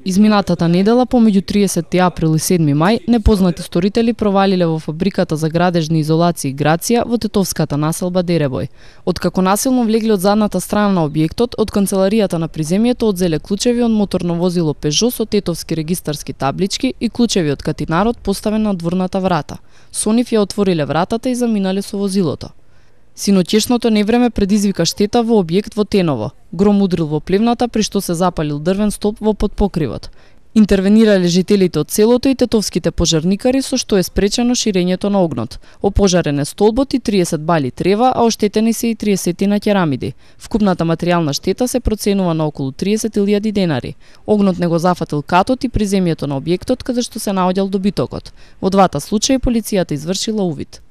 Изминатата недела, помеѓу 30 април и 7 мај, непознати сторители провалиле во фабриката за градежни изолации Грација во тетовската населба Деребој. Откако насилно влегли од задната страна на објектот, од канцеларијата на приземјето одзеле клучеви од моторно возило Пежо со тетовски регистарски таблички и клучеви од катинарот поставен на дворната врата. Со нив ја отвориле вратата и заминале со возилото. Синоќешното невреме предизвика штета во објект во Теново. Гром удрил во плевната, при што се запалил дрвен столб во подпокривот. Интервенирале жителите од селото и тетовските пожарникари, со што е спречено ширењето на огнот. Опожарен е столбот и 30 бали трева, а оштетени се и 30 на керамиди. Вкупната материјална штета се проценува на околу 30.000 денари. Огнот не го зафатил катот и приземјето на објектот каде што се наоѓал добитокот. Во двата случаи полицијата извршила увид.